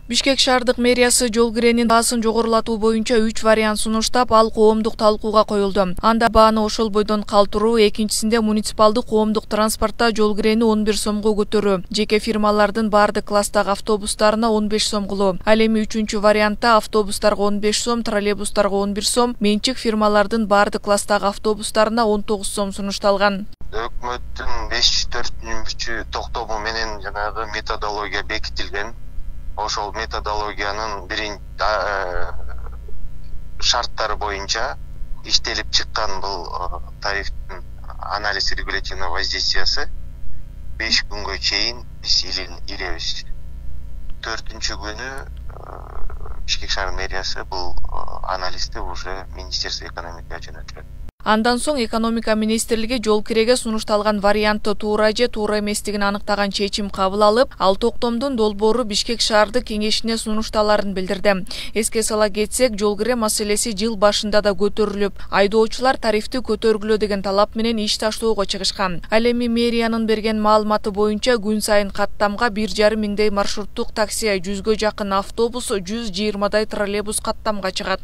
Бишкек шаардык мэриясы жол киренин баасын жогорулатуу боюнча 3 вариант сунуштап, ал коомдук талкууга коюлду. Анда бааны ошол бойдон калтыруу, экинчисинде муниципалдык коомдук транспортто жол кирени 11 сомго көтөрүү, жеке фирмалардын бардык класстагы автобустарына 15 сом кылуу. Ал эми 3-чү вариантта автобустарга 15 сом, троллейбустарга 11 сом, менчик фирмалардын бардык класстагы автобустарына 19 сом сунушталган. Өкмөттүн 5-4 токтому менен жанагы методология бекитилген. Ошол методологиянын шарттары боюнча иштелип чыккан бул тарифтин анализ регулятивного воздействиясы 5 күнгө чейин биз илебиз. 4-күнү Бишкек шаар мэриясы бул анализди уже Министерство экономикага жөнөтүлөт. Андан соң экономика министрлиги жол киреге сунушталган вариантты туура же туура эместигин аныктаган чечим кабыл алып, ал токтомдун долбоору Бишкек шаардык кеңешине сунушталарын билдирди. Эске сала кетсек, жол кире маселеси жыл башында да көтөрүлүп, айдоочулар тарифти көтөргүлө деген талап менен иш таштоого чыгышкан. Ал эми мэриянын берген маалыматы боюнча күн сайын каттамга 1,5 миңдей маршруттук такси, 100гө жакын автобус, 120дай троллейбус каттамга чыгат.